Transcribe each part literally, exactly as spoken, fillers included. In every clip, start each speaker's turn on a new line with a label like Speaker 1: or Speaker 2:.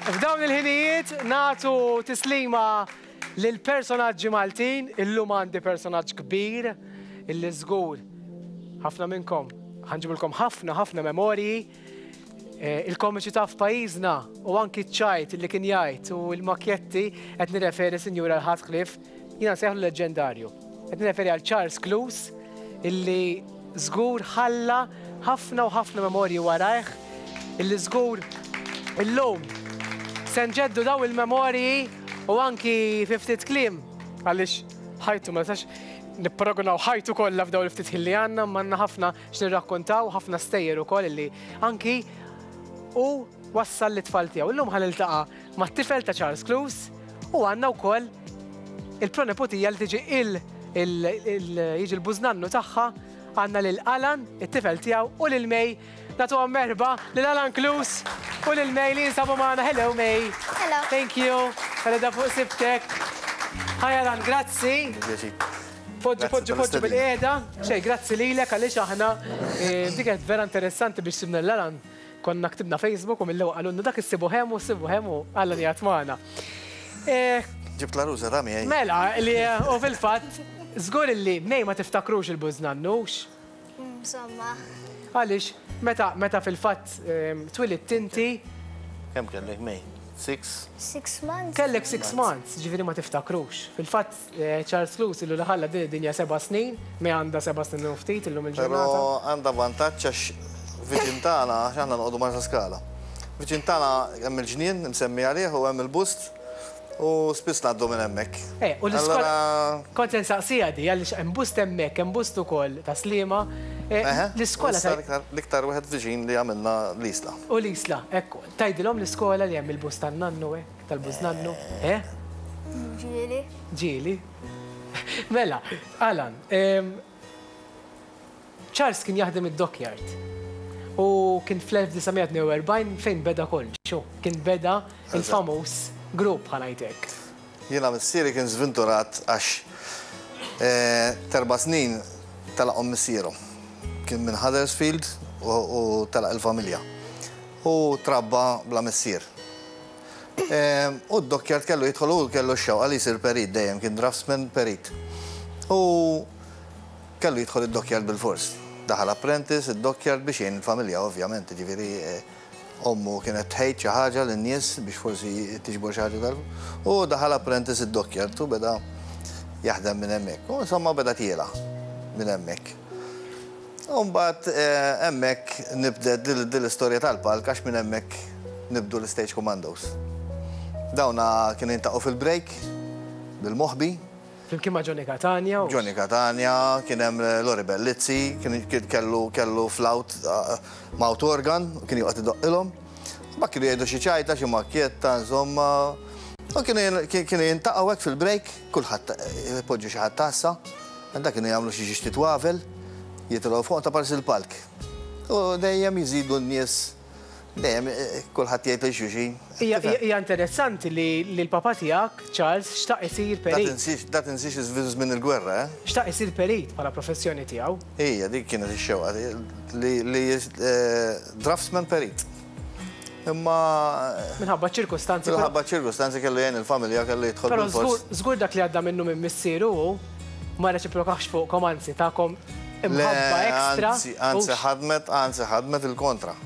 Speaker 1: F'dawn il-ħinijiet nagħtu tislima lil personaġġi Maltin, illum għandi personaġġ kbir illi żgur ħafna minnkom ħa nġibilkom ħafna ħafna memorji eh, il-komiċità f'pajjiżna u anki ċ-ċajt li kien jgħid u l-makjetti. Qed nirreferi, sinjura, għal ħadd ħlief, jiena nsejħlu leġendarju. Qed nirreferi għal Charles Clews, illi żgur ħalla ħafna u ħafna memorji warajh, illi żgur illum se nġeddu daw il-memorji u anki fi ftit kliem, għaliex ħajtu ma nistax nipparagunaw ħajtu kollha f'daw il-ftit ħin li għandna, m'għandna ħafna x'nirrakkontaw, ħafna stejjer ukoll illi anki u wassal lit-tfal tiegħu. Illum ħa niltaqa' mat-tifel ta' Charles Clews u għandna wkoll il-pronepotija li tiġi il jiġi l-bużnannu tagħha. Għandna lil Alan, it-tifel tiegħu, u lil May. Nagħtuhom merħba lil Alan Clews u lil May li jinsabu magħna. Hello, May.
Speaker 2: Hello.
Speaker 1: Thank you. Għaleda fuq sibtek. Hi Alan, grazzi. Poġġu, poġġu, poġġu bilqiegħda. Xej, grazzi lilek, għaliex aħna eh, dik kienet vera interessanti biex sibna l-Alan. Konna ktibna Facebook u mill-ewwel qalulna dak issibu hemm u ssibu hemm u Alan jgħat magħna. Eh,
Speaker 3: Ġibt l-għarusa ta' miegħi.
Speaker 1: Mela, li u fil-fatt, żgur illi May ma tiftakrux il-bużnannux.
Speaker 2: Insomma.
Speaker 1: Għaliex, meta meta fil-fatt ehm, twilidt inti,
Speaker 3: Kemm kellek, May? Six?
Speaker 2: Six months.
Speaker 1: Kellek six months, ġifieri ma tiftakrux. Fil-fatt, eh, Charles Clews illu li ħalla din id-dinja seba' snin, May għandha seba' snin u ftit illum
Speaker 3: Però
Speaker 1: il-ġurnata.
Speaker 3: għandha vantaġġ għax viċin tagħna, għax aħna noqogħdu Marsa Skala. Viċin tagħna hemm il-ġnien msemmi għalih u hemm il-bust u spiss ngħaddu minn hemmhekk.
Speaker 1: Eh, u l-iskola.
Speaker 3: Allora,
Speaker 1: Kont se nsaqsija di, għaliex hemm bust hemmhekk, hemm bust ukoll ta' Sliema. Eh,
Speaker 3: eħe,
Speaker 1: L-iskola
Speaker 3: issa
Speaker 1: ta'
Speaker 3: l-iktar- L-iktar wieħed viċin li għamilna l-Isla.
Speaker 1: U l-Isla, ekku, tgħidilhom l-iskola li hemm il-bust tan-nannu, eh, tal-bużnannu, eh?
Speaker 2: Ġieli.
Speaker 1: Ġieli. Mela, Alan, em, Charles kien jaħdem id-dockyard. U kien fl-elf disa' mija tnejn u erbgħin fejn beda kollox. Xu, kien beda il-famuż grupp, ħa ngħidlek.
Speaker 3: Jiena missieri kien sventurat għax eh, t'erba' snin telaqhom missieru. Kien minn Huddersfield u, u telaq il-familja. U trabba bla missier. Eh, U d-dockyard kellu jidħol u kellu x-xewqa li jsir perit dejjem, kien draftsman perit. U kellu jidħol id-dockyard bil-fors. Daħal apprentice id-dockyard biex jgħin il-familja, ovvjament, ġifieri eh, ommu kienet tħejt xi ħaġa lin-nies biex forsi tiġbor xi ħaġa tal. U daħal apprentice id-dockyard u beda jaħdem minn hemmhekk. U insomma beda tiela minn hemmhekk. U mbagħad eh, hemmhekk nibdet dil l-istorja tal-palk, għax minn hemmhekk nibdu l-Stage Commandos. Dawna kienu jiltaqgħu fil-break bil-moħbi.
Speaker 1: Flimkien ma' Johnny Catania. u-
Speaker 3: Johnny Catania, kien hemm Lori Bellizzi, kien kien kellu kellu flute, uh, mouth organ, u kien joqgħod idoqqilhom. Ma kienu jgħidu xi ċajta, xi makkjetta, insomma. U kienu kienu jiltaqgħu hekk fil-break, kulħadd eh, ipoġġu xi ħadd tassa, għandha kienu jagħmlu xi xi twavel, jitilgħu fuq ta' parsi il-palk. U dejjem jiżidu n-nies, dejjem eh, kulħadd jgħid lil xulxin.
Speaker 1: Hija hija interessanti li li l-papa tiegħek, Charles, xtaq isir
Speaker 3: Da
Speaker 1: perit.
Speaker 3: tinsix, da tinsix iż-żmien il-gwerra, eh?
Speaker 1: Xtaq isir perit bħala professjoni tiegħu.
Speaker 3: Ija, dik kienet ix-xewqa li, li eh, draftsman perit. Imma
Speaker 1: Minħabba ċirkustanzi.
Speaker 3: Minħabba ċirkustanzi kellu jgħin il-familja, kellu jidħol
Speaker 1: Però
Speaker 3: bil-fors.
Speaker 1: żgur żgur dak li għadda minnu minn missieru hu ma reċiprokax fuqkom, anzi takom
Speaker 3: Le,
Speaker 1: imħabba ekstra.
Speaker 3: Anzi, anzi
Speaker 1: u
Speaker 3: ħadmet, anzi ħadmet il-kontra.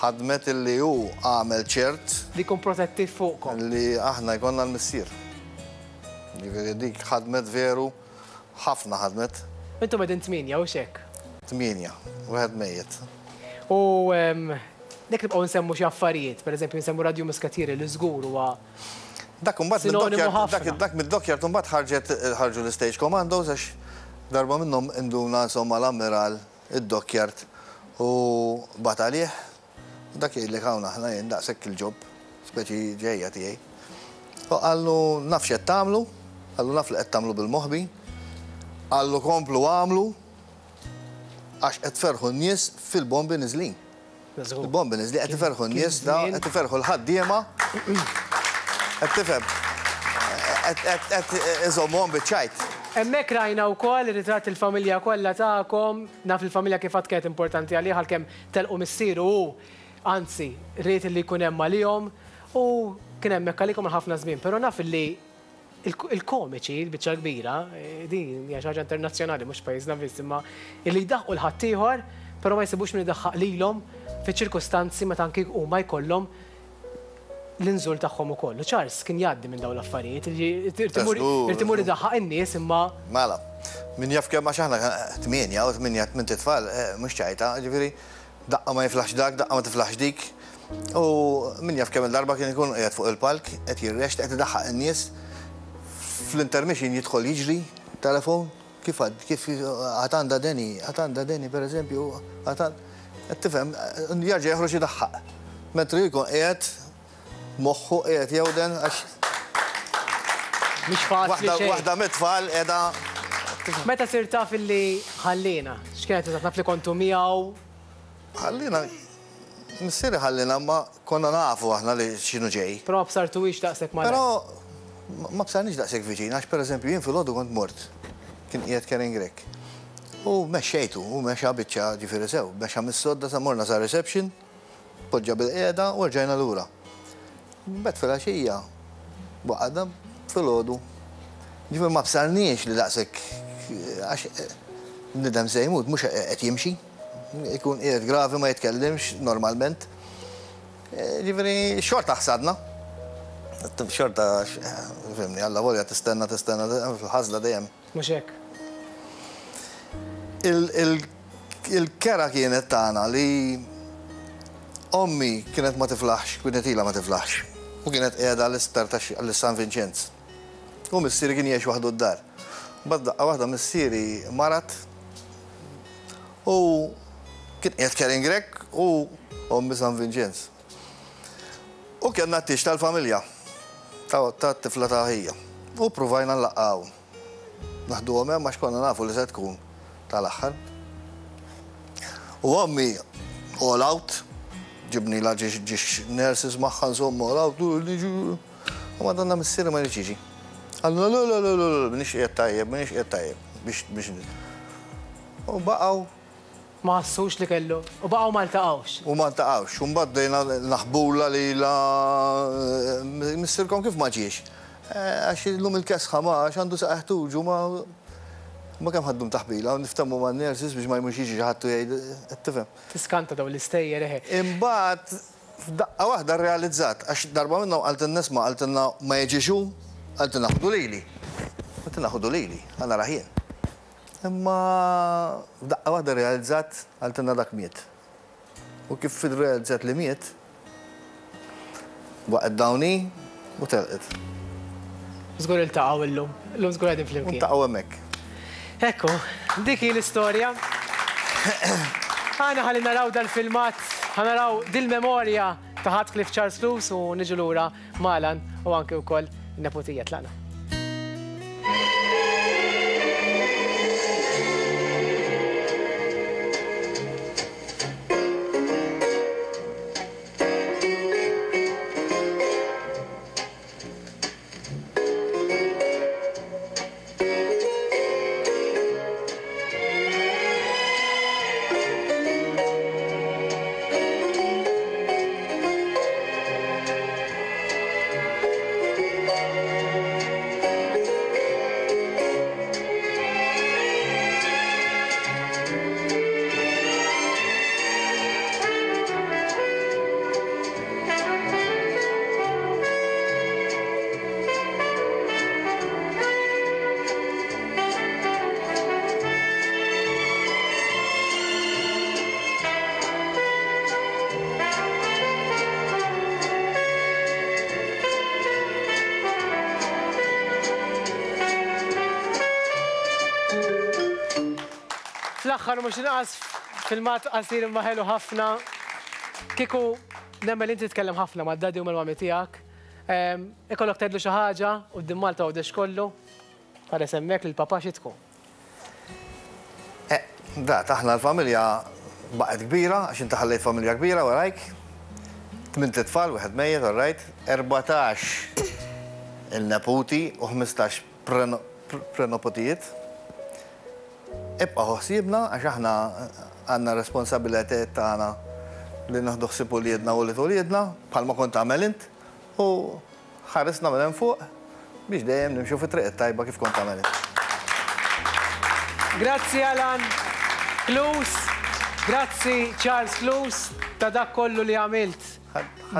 Speaker 3: Ħadmet illi hu għamel ċert
Speaker 1: li jkun protettiv fuqkom.
Speaker 3: li aħna jkollna l-missier. Ġifieri dik ħadmet veru, ħafna ħadmet.
Speaker 1: Intom qegħdin tmienja, u xek.
Speaker 3: Tmienja, wieħed mejjet.
Speaker 1: U em, nek nibqgħu nsemmu xi affarijiet, pereżempju nsemmu Radio Muskatieri li żgur huwa
Speaker 3: Dak imbagħad
Speaker 1: sinonimu
Speaker 3: mid-dockyard,
Speaker 1: ħafna.
Speaker 3: dak dak mid-dockyard imbagħad ħarġet ħarġu l-Stage Commandos, għax darba minnhom induna insomma l-ammiral id-dockyard u bagħat għalih. Dak jgħidlek hawn aħna jien daqshekk il-job, speċi ġejja tiegħi. U qallu naf x'qed tagħmlu, qallu naf li qed tagħmlu bil-moħbi, qallu komplu għamlu għax qed tferħu n-nies fil-bombi niżlin.
Speaker 1: Żgur.
Speaker 3: Il-bombi niżlin qed iferħu n-nies da,
Speaker 1: żmien.
Speaker 3: qed iferħu l-ħaddiema. Qed tifhem. Qed qed iżommhom biċ-ċajt.
Speaker 1: Hemmhekk rajna wkoll ir-ritratt il-familja kollha tagħkom, naf il-familja kif għad kienet importanti għalih għalkemm telqu missieru hu, anzi, ried li jkun hemm għalihom. U kien hemmhekk għalikom ħafna żmien, però naf li il-komiċi, il-biċċa kbira, din hija xi ħaġa internazzjonali mhux pajjiżna biss, imma illi jdaħħqu l-ħaddieħor, però ma jsibux min idaħħaq lilhom fiċ-ċirkustanzi meta anki huma jkollhom l-inżul tagħhom ukoll. U Charles kien jgħaddi minn dawn l-affarijiet, irid imur idaħħaq in-nies imma.
Speaker 3: Mela, min jaf kemm għax aħna tmienja u tmienja tmien tfal, mhux ċajta, ġifieri daqqa ma jiflaħx dak, daqqa ma tiflaħx dik. U min jaf kemm il-darba kien ikun qiegħed fuq il-palk, qed jirrext, qed idaħħaq in-nies. Fl-intermission jidħol jiġri, telefon, kif għad, kif għatanda Deni, għatanda Deni per eżempju, għatan, tifhem, jarġa' joħroġ idaħħaq. Mentri jkun qiegħed moħħu qiegħed jewden għax.
Speaker 1: Mhix faċli xejn.
Speaker 3: Waħda mit-tfal qiegħda.
Speaker 1: Meta sirt taf illi ħallina, x'kienet eżatt naf li kontu miegħu?
Speaker 3: Ħallina, missieri ħallina ma konna nafu aħna li x'inhu ġej.
Speaker 1: Però ma bsartuhiex daqshekk mal.
Speaker 3: Però ma bsarniex daqshekk viċin, għax pereżempju jien filgħodu kont mort, kien qiegħed Karen Grech. U mexxejtu, u mexa biċċa ġifieri sew, mexa mis-sodda sa morna sa reception, poġġa bil-qiegħda u rġajna lura. Mbagħad filgħaxija waqgħadna filgħodu. Ġifieri ma bsarniex li daqshekk għax bniedem se jmut mhux qed jimxi, ikun qiegħed gravi ma jitkellimx normalment. Ġifieri xorta ħsadna. Xorta, fimni, għalla volja tistenna, tistenna, fil-ħażla dejjem.
Speaker 1: Mhux hekk.
Speaker 3: Il-kera kienet tagħna li ommi kienet ma tiflaħx, kienet ilha ma tiflaħx. U kienet qiegħda l-isptar ta' San Vinċenz. U missieri kien jgħix waħdu d-dar. Mbagħad daqqa waħda missieri marat u kien qiegħed Karen Grech u ommi San Vinċenz. U kellna t-tieġ tal-familja, ta' tifla ta' ħija. U provajna nlaqqgħu. Naħduhom hemm għax konna nafu li se tkun tal-aħħar. U ommi all out, ġibni la ġiex nurses magħha insomma all out, u madonna missieri ma jridx jiġi. Qallu le le le le le, m'iniex qiegħed tajjeb, m'iniex qiegħed tajjeb biex biex. U baqgħu.
Speaker 1: Ma ħassux li kellu, u baqgħu ma ltaqgħux.
Speaker 3: U ma ltaqgħux, u mbagħad bdejna naħbula li la missierkom kif ma ġiex. Għax illum il-kesħa ma għax għandu saqajh tuġu ma ma kemm ħaddum taħbila, u niftemmu man-nurses biex ma jmux jiġi xi ħadd u jgħid, qed tifhem.
Speaker 1: Tiskanta dawn l-istejjer eħe.
Speaker 3: Imbagħad f'daqqa waħda rrealizzat, għax darba minnhom qaltilna isma' qaltilna ma jiġix hu, qaltilna ħudu lili. Qaltilna ħudu lili, ħa narah jien. Imma f'daqqa waħda rrealizzat qaltilna dak miet. U kif irrealizzat li miet, waqgħet dawni u telqet.
Speaker 1: Żgur iltaqgħu illum, illum żgur qegħdin flimkien.
Speaker 3: Iltaqgħu hemmhekk.
Speaker 1: Ekku, dik hi l-istorja. Aħna ħalli naraw dal-filmat, ħa naraw dil-memorja ta' Heathcliff Charles Clews u niġu lura Malan u anke wkoll in-neputija tlaqna. Fl-aħħar mhux inqas filmat qasir imma ħelu ħafna. Kieku nemmen li inti titkellem ħafna mad-daddy u mal-mami tiegħek. Ikollok tgħidlu xi ħaġa quddiem Malta Għawdex kollu. Ħares hemmhekk lil papà xi tkun.
Speaker 3: Dat, aħna l-familja baqgħet kbira, għax inti ħallejt familja kbira warajk. Tmint itfal, wieħed mejjet, all right. Erbatax il-neputi u ħmistax prenopotijiet. Ibqa' ħsiebna għax aħna għandna responsabilitajiet tagħna li naħdu ħsieb uliedna u ulied uliedna, bħalma kont tagħmel int. U ħarisna minn hemm fuq biex dejjem nimxu fit-triq it-tajba kif kont tagħmel.
Speaker 1: Grazzi Alan Clews, grazzi Charles Clews ta' dak kollu li għamilt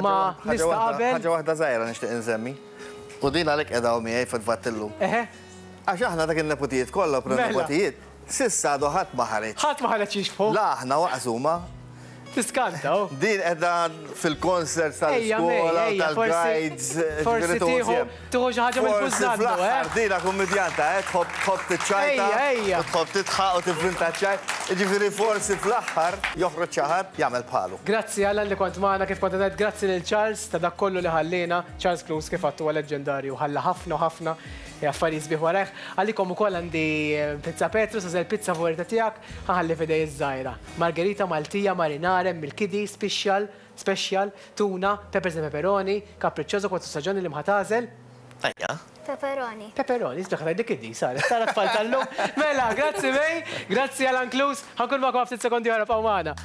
Speaker 1: ma' nies ta' qabel.
Speaker 3: Ħaġa waħda żgħira nixtieq insemmi. U din għalhekk qiegħda miegħi fil-fatt illum.
Speaker 1: Eħe,
Speaker 3: Għax aħna dak il-nepotijiet kollha
Speaker 1: Mela.
Speaker 3: nepotijiet, s'issa għadu ħadd ma ħareġ.
Speaker 1: Ħadd ma ħareġ jixbħu.
Speaker 3: La aħna waqsuma.
Speaker 1: Tiskanta, oh.
Speaker 3: Din qiegħda fil-concerts
Speaker 1: Ejja, May,
Speaker 3: tal-iskola,
Speaker 1: ejja, forsi-
Speaker 3: tal-guides.
Speaker 1: forsi
Speaker 3: ġifieri
Speaker 1: tieħu-
Speaker 3: tuħu
Speaker 1: tieħu xi ħaġa
Speaker 3: Forsi
Speaker 1: mill-bużnannu,
Speaker 3: fl-aħħar
Speaker 1: eh?
Speaker 3: Dina kummedjanta, eh? Tħobb tħobb tiċċajta.
Speaker 1: Ejja, ejja.
Speaker 3: u Tħobb tidħaq u tivvinta ċajt. Ġifieri forsi fl-aħħar joħroġ xi ħadd jagħmel bħalu.
Speaker 1: Grazzi Alan li kont magħna kif kont ngħid, grazzi lil Charles ta' dak kollu li ħallina. Charles Clews kif għattu huwa leġendarju, ħalla ħafna u ħafna affarijiet sbieħ warajh. Għalikom ukoll għandi eh, Pizza Petrus, għażel pizza favorita tiegħek, ħa nħalli f'idej iż-żgħira. Margherita Maltija, marinara, mill-kidi, special, special, tuna, peppers and pepperoni, capriccioso, kwatru staġuni li mħatażel.
Speaker 3: Ejja.
Speaker 2: Pepperoni.
Speaker 1: Pepperoni, isbaħ dik id saret, tara tfal tal-lum. Mela, grazzi May, grazzi Alan Clews, ħa nkun magħkom ftit sekondi oħra, ibqgħu magħna.